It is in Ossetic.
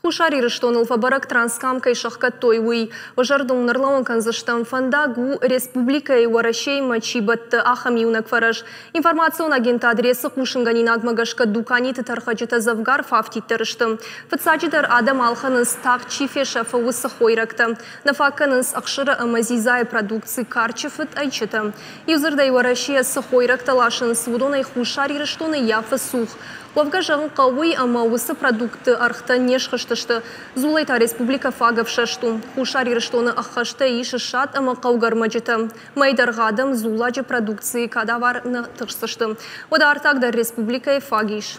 Хуссар Ирыстоныл фӕбӕрӕг Транскам кӕй сӕхгӕдтой, уый. Уӕ зӕрдыл уын ӕрлӕууын кӕндзыстӕм, фӕндаг у, республикӕйы Уӕрӕсеимӕ чи бӕтты, ахӕм иунӕг фӕрӕз. Информацион агентад РЕС-ы хъусынгӕнинагмӕ гӕсгӕ дуканиты тӕрхӕджытӕ дзӕвгар фӕафтиддӕр сты. Фыццаджыдӕр адӕм ӕлхӕнынц, тагъд чи фесӕфы, уыцы хойрӕгтӕ. Нӕ фаг кӕнынц ӕхсыры ӕмӕ дзидзайы продукци, карчы фыд, ӕйчытӕ. Иудзырдӕй, Уӕрӕсейӕ цы хойрӕгтӕ ласынц, уыдонӕй Хуссар Ирыстоны ййафы цух. Уӕвгӕ зӕгъын хъӕуы уый, ӕмӕ уыцы продуктты ӕргътӕ не схызтысты. Дзулӕй та республикӕ фаг ӕфсӕст у. Хуссар Ирыстоны ӕххӕстӕй ис ссад ӕмӕ хъӕугӕ ӕрмӕджытӕ. Мӕйы дӕргъы адӕм дзулладжы продукцийы кадавар нӕ тыхсдзысты. Уӕдӕ артаг дӕр республикӕйы фаг ис.